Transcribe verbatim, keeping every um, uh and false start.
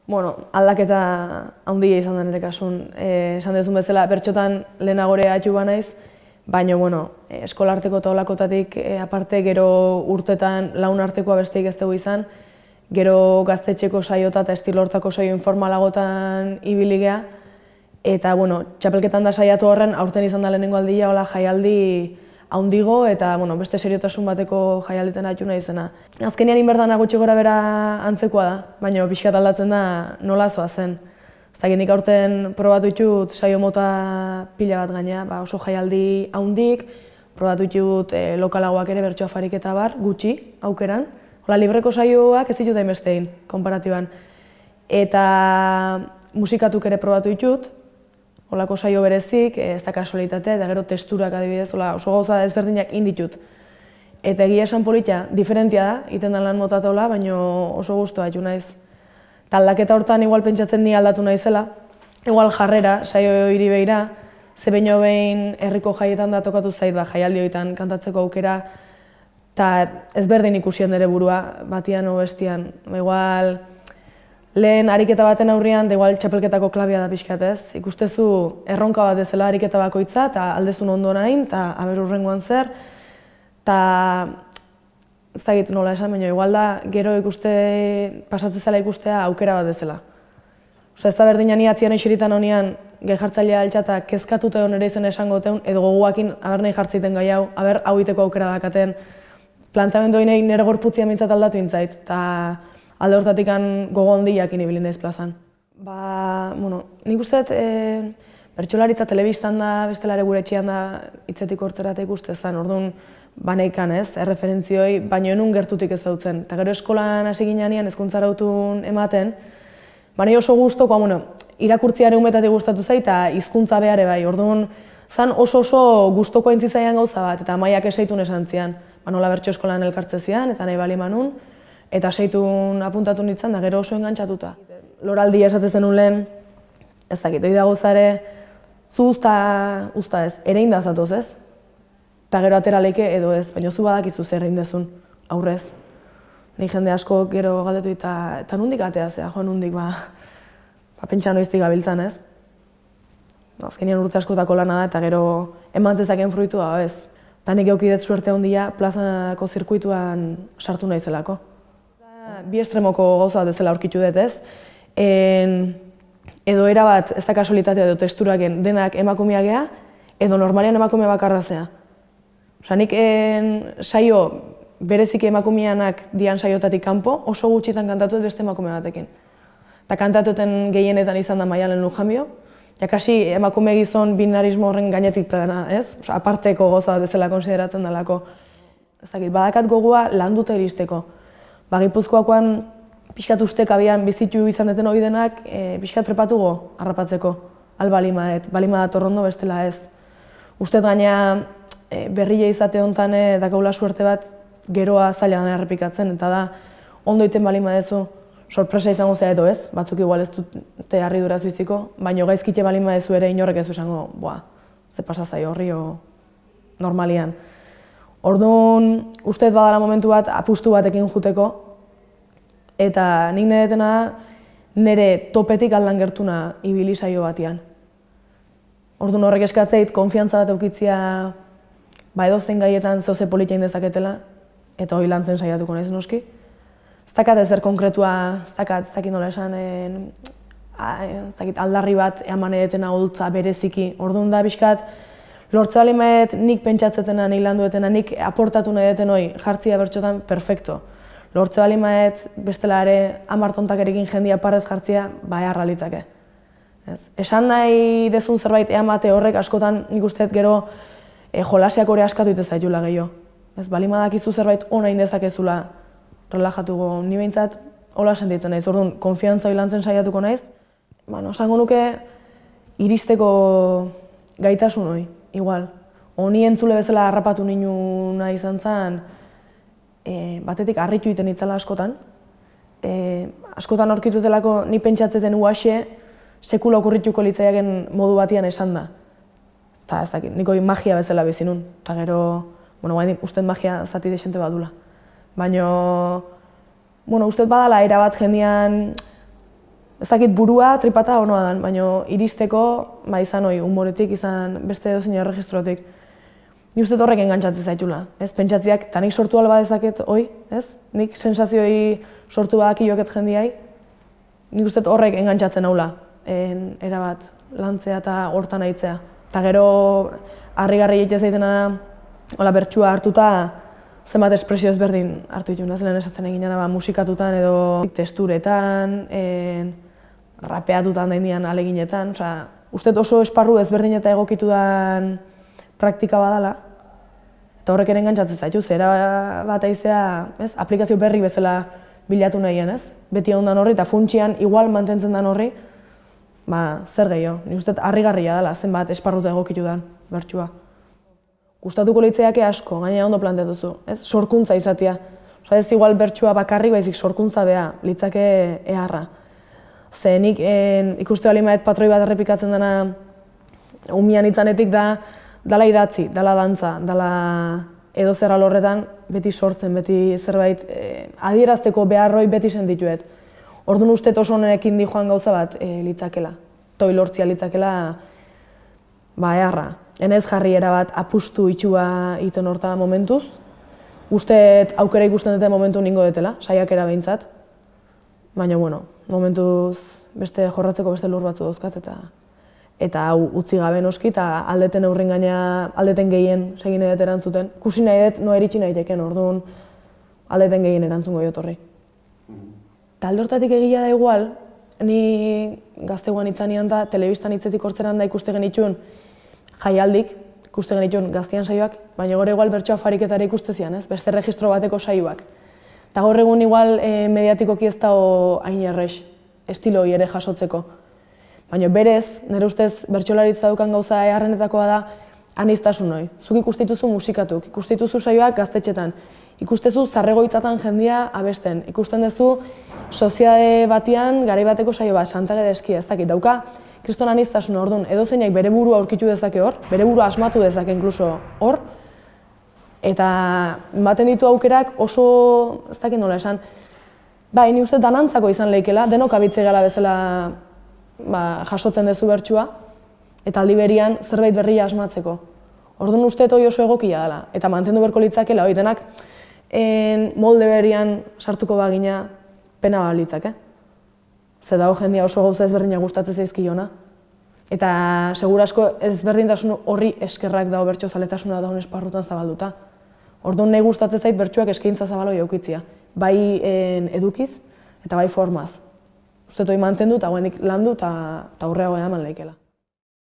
Bueno, aldaketa handia izan da nire kasun. Eh, esan dezun bezala, bertxotan lehenagore atxu naiz, baina, bueno, eskolarteko eta olakotatik eh, aparte gero urtetan laun artekoa besteik ez dugu izan, gero gaztetxeko saiota eta estilortako saio informalagotan ibili gea, eta, bueno, txapelketan da saiatu horren, aurten izan da lehenengo aldia, hola jaialdi haundigo eta, bueno, beste seriotasun bateko jaialditen atxu nahi izena. Azkenean inbertan gutxi gora bera antzekoa da, baina pixkat aldatzen da nola zoa zen. Ez dakit nik aurten probatu ditut saio mota pila bat gaina, ba, oso jaialdi haundik, probatu ditut e, lokalagoak ere bertso afarik eta bar, gutxi, aukeran. Hola, libreko saioak ez ditut hainbestein, konparatiban. Eta musikatuk ere probatu ditut, holako saio berezik, ez da kasualitatea, eta gero testurak adibidez, hola, oso gauza ezberdinak inditut. Eta egia esan politia, diferentia da, iten da lan motatola, baina oso guztua atxu naiz. Eta aldaketa hortan igual pentsatzen ni aldatu naizela, igual jarrera, saio hiri behira, ze baino behin herriko jaietan da tokatu zait, ba, jaialdi horietan kantatzeko aukera, eta ezberdin ikusien dere burua, batian o bestian. Ba, igual, lehen ariketa baten aurrian, da igual txapelketako klabia da pixkat ez. Ikustezu erronka bat ezela ariketa bakoitza, eta aldezun ondo nahin, eta aber hurrengoan zer. Eta ez da egiten nola esan, baina igual da gero ikuste, pasatzen zela ikustea aukera bat ezela. Osa ez da berdina ni atzian eixeritan honean, gai jartzailea altxata kezkatuta egon ere izan esango teun, edo goguakin aber nahi jartzeiten gai hau, aber hau iteko aukera dakaten. Planteamendu hori nire gorputzia mintzat aldatu intzait, eta alde hortatik gogo handiakin ibili naiz plazan. Ba, bueno, nik uste dut, e, bertsolaritza telebistan da, bestelare gure etxean da hitzetik hortzerata ikuste zen, orduan baneikan ez, erreferentzioi, baina enun gertutik ez dautzen. Eta gero eskolan hasi ginean hezkuntza arautun ematen, baina oso guztoko, bueno, irakurtziare umetatik gustatu zait, eta hizkuntza behare bai, orduan zan oso oso guztoko entzitzaian gauza bat, eta maiak esaitun esan zian, ba, nola bertso eskolan elkartze zian, eta nahi bali manun, eta seitun apuntatu nintzen da gero oso engantzatuta. Loraldi esatzen zenun lehen, ez dakit, hori dago zare, zu usta, usta ez, ere indazatoz ez? Eta gero atera leike edo ez, baina zu badakizu zer egin dezun, aurrez. Nik jende asko gero galdetu eta, eta nundik atea zea, jo nundik ba, ba pentsa noiztik gabiltzan ez? Azkenean urte askotako lana da eta gero eman zezaken fruitua ez. Eta nik eukidet suerte handia plazako zirkuituan sartu naizelako. Bi estremoko gauza bat ezela aurkitu dut ez. En, edo erabat ez da kasualitatea edo testuraken denak emakumea gea, edo normalean emakumea bakarra zea. Osa, nik en, saio bereziki emakumeanak dian saiotatik kanpo oso gutxitan kantatu beste emakume batekin. Eta kantatuten gehienetan izan da Maialen Lujambio, jakasi emakume gizon binarismo horren gainetik dena, ez? Osa, aparteko goza bat ezela konsideratzen delako. Ez dakit, badakat gogua landuta iristeko. Ba, Gipuzkoakoan pixkat ustek abian bizitu izan deten hori denak e, pixkat prepatugo harrapatzeko. Al balimaet, balima datorrondo bestela ez. Ustet gaina e, berrile izate honetan e, dakaula suerte bat geroa zailan errepikatzen, eta da ondo iten balima dezu sorpresa izango zea edo ez, batzuk igual ez dute harriduraz biziko, baina gaizkite balima dezu ere inorrek ez esango, boa, ze pasa zai horri o normalian. Orduan, uste badala momentu bat apustu batekin juteko, eta nik nire detena nire topetik aldan gertuna ibili saio batian. Orduan horrek eskatzeit, konfiantza bat eukitzia ba edozein gaietan zoze politia indezaketela, eta hori lantzen saiatuko naiz noski. Ez dakat ezer konkretua, ez dakat, ez dakit nola esan, ez dakit aldarri bat eman edetena holtza bereziki. Orduan da pixkat, lortze balimaet nik pentsatzetena, nik landuetena, nik aportatu nahi deten hori jartzia bertxotan, perfecto. Lortze balimaet bestela ere amartontakerekin jendia parrez jartzia, ba eharra litzake. Esan nahi dezun zerbait eamate horrek askotan nik usteet gero jolasiak hori askatu ite zaitula gehiago. Balimadakizu zerbait ona indezakezula relajatuko, ni behintzat hola sentitzen naiz, orduan konfiantza hori lantzen saiatuko naiz. Esango nuke iristeko gaitasun hori. Igual, honi entzule bezala harrapatu ninuna izan zen, e, batetik harritu iten itzala askotan. E, askotan aurkitu delako ni pentsatzeten uaxe sekula okurrituko litzaiaken modu batian esan da. Eta ez dakit, niko magia bezala bizinun. Eta gero, bueno, guain uste magia zati desente badula. Baina, bueno, uste badala era bat jendean ez dakit burua, tripata onoa dan, baina iristeko, ba izan hoi, humoretik, izan beste edozein erregistrotik. Ni uste horrek engantzatzen zaitula, ez? Pentsatziak, eta nik sortu alba dezaket hoi, ez? Nik sensazioi sortu badak ioket jendiai, nik uste horrek engantzatzen haula, erabat, lantzea eta hortan aitzea. Eta gero, harrigarri egite zaitena da, hola bertsua hartuta, zenbat espresio ezberdin hartu ditu, zelen esaten egin ba, musikatutan edo testuretan, en, rapeatutan daindian aleginetan, osea, uste oso esparru ezberdin eta egokitu dan praktika badala, eta horrek ere engantzatzen zaitu, zera bat aizea, ez, aplikazio berri bezala bilatu nahien, ez? Beti ondan horri eta funtsian igual mantentzen dan horri, ba, zer gehiago, nik uste harrigarria dela, zenbat esparruta egokitu dan bertsua. Gustatuko leitzeiake asko, gainera ondo planteatuzu, ez? Sorkuntza izatea. Osa ez igual bertsua bakarrik, baizik sorkuntza beha, litzake eharra. Ze nik ikuste bali maet patroi bat errepikatzen dena umian itzanetik da dala idatzi, dala dantza, dala edo zer alorretan beti sortzen, beti zerbait adierazteko beharroi beti sentituet. Orduan uste oso honekin di joan gauza bat litzakela. Toi lortzia litzakela ba eharra. Enez jarri erabat apustu itxua iten horta momentuz. Uste aukera ikusten dute momentu ningo detela, saiakera behintzat. Baina, bueno, momentuz beste jorratzeko beste lur batzu dauzkat eta eta hau utzi gabe noski eta aldeten aurrin gaina aldeten gehien segin edet erantzuten. Kusi nahi dut, noa eritxi nahi teken, orduan aldeten gehien erantzungo jot horri. Eta alde hortatik egia da igual, ni gazteguan itzanean da, telebistan hitzetik hortzeran da ikuste genitxun jaialdik, ikuste genitxun gaztian saioak, baina gore igual bertsoa fariketara ikustezian, ez? Beste registro bateko saioak. Eta gaur egun igual mediatikoki ez dago hain errex, estilo hori ere jasotzeko. Baina berez, nire ustez bertsolaritza dukan gauza eharrenetakoa da aniztasun hori. Zuk ikustituzu musikatuk, ikustituzu saioak gaztetxetan, ikustezu zarregoitzatan jendia abesten, ikusten duzu soziade batian garai bateko saio bat, Santage deskia, ez dakit, dauka kriston aniztasuna, orduan, edozeinak bere burua aurkitu dezake hor, bere burua asmatu dezake inkluso hor, eta ematen ditu aukerak oso, ez dakit nola esan, bai, ni uste danantzako izan lehikela, denok abitze gala bezala jasotzen dezu bertsua, eta aldi berian zerbait berria asmatzeko. Orduan uste hori oso egokia dela, eta mantendu berko litzakela, hori denak molde berian sartuko bagina pena bat litzake. Zer dago jendia oso gauza ezberdina gustatzen zaizkiona. Eta segurasko ezberdintasun horri eskerrak dago bertso zaletasuna dagoen esparrutan zabalduta. Orduan nahi gustatzen zait bertsuak eskaintza zabaloi eukitzia. Bai edukiz eta bai formaz. Uste hori mantendu eta guenik landu eta aurreago eman lehikela.